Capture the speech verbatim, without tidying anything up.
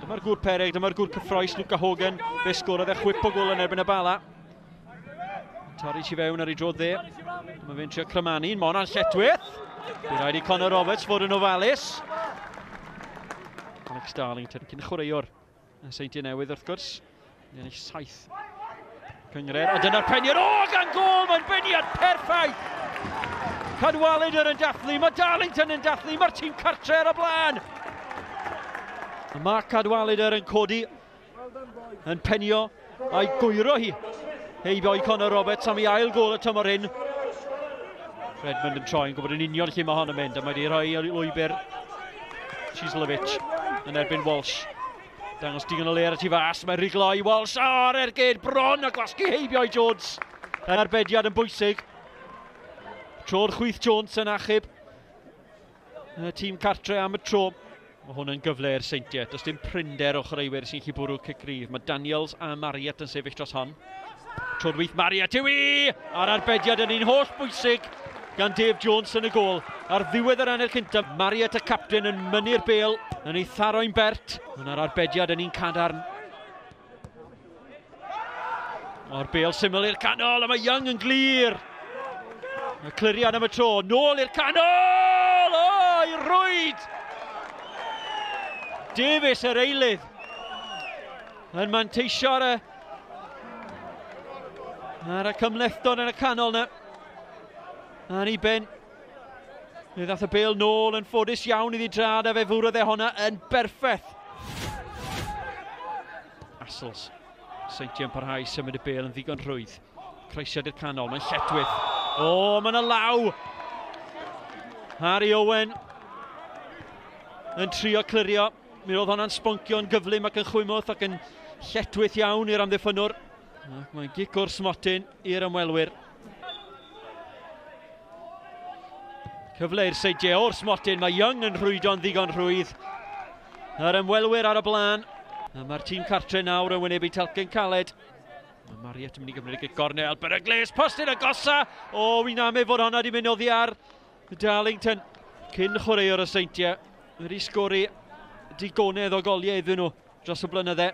Dyma'r gŵr peryg, dyma'r gŵr cyffroes, Luca Hogan. Fe sgorodd e chwip o gôl yn erbyn y Bala. Torri tu fewn ar ei dro dde. Dyma fe'n trio crymanu, mae hwnna'n lletchwith. Bydd rhaid i Conor Roberts fod yn ofalus. Alex Darlington, cyn chwaraewr y Seintiau Newydd wrth gwrs. Ennill saith cynghrair, a dyna'r peniad, o, gan gôl, mae'n beniad perffaith! Cadwaladr yn dathlu, mae Darlington yn dathlu, mae'r tîm cartre ar y blaen! Mae Cadwaladr yn codi, yn penio, a'i gwyro hi. Heibio i Conor Roberts am ei ail gôl y tymor hyn. Redmond yn troi, yn gwybod yn union lle mae hon yn mynd, a mae wedi rhoi lwybr Cieslewicz yn erbyn Walsh. Dangos digon o le ar y tu fas, mae riglo i Walsh ar ergyd bron a gwasgu heibio i Jones. Yr arbediad yn bwysig. Tro'r chwith Jones yn achub y tîm cartre am y tro. Mae hwn yn gyfle i'r Seintiau. Does dim prinder o chwaraewyr sy'n gallu bwrw cic gryf. Mae Daniels a Marriott yn sefyll dros hon. Tro'r wyth Marriott yw i! A'r arbediad yn un holl bwysig gan Dave Jones yn y gôl. Ar ddiwedd yr hanner cyntaf, Marriott y capten yn mynnu'r bêl, yn ei tharo'n bert. Yna'r arbediad yn un cadarn. O'r bêl syml i'r canol, a mae Young yn glir. Y cliriad am y tro, nôl i'r canol! O, i rwyd! Davies yr eilydd yn manteisio ar y, ar y cymhlethdod yn y canol na. Ar ei ben. Fe ddath y bêl nôl yn ffodus iawn iddi drad a fe fwrodd e honna yn berffaith. Astles. Seintiau'n parhau symud y bêl yn ddigon rhwydd. Croesiad i'r canol, mae'n lletchwith. O, mae'n y law! Harry Owen yn trio clirio. Mi oedd hwnna'n sboncio'n gyflym ac yn chwymwth ac yn lletchwith iawn i'r amddiffynnwr. Ac mae'n gic o'r smotyn i'r ymwelwyr. Cyfle i'r Seintiau o'r smotyn, mae Young yn rhwydo'n ddigon rhwydd. Yr ymwelwyr ar y blaen. A mae'r tîm cartre nawr yn wynebu talcen caled. Mae Marriott yn mynd i gymryd y gic gornel, beryglus, postyn agosa! O, wi'n amau fod honna wedi mynd oddi ar Darlington. Cyn chwaraewr y Seintiau, wedi sgori digonedd o goliau iddyn nhw dros y blynydde.